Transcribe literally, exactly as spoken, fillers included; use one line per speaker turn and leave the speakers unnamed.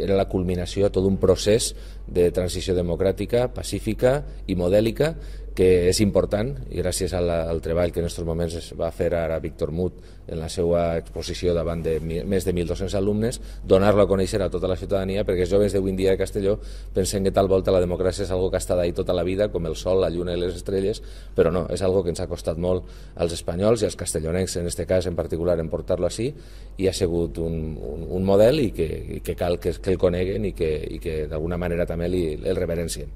Era la culminació de tot un procés de transició democràtica, pacífica i modèlica que és important, i gràcies al, al treball que en aquests moments es va fer ara Víctor Mut en la seva exposició davant de més de mil dos-cents alumnes, donar-lo a conèixer a tota la ciutadania, perquè els joves d'avui en dia de Castelló pensen que tal volta la democràcia és algo que ha estat ahí tota la vida, com el sol, la lluna i les estrelles, però no, és algo que ens ha costat molt als espanyols i als castellonencs, en aquest cas en particular, en portar-lo així, i ha sigut un, un, un model i que, i que cal que, que el coneguen i que, i que d'alguna manera també li, el reverencien.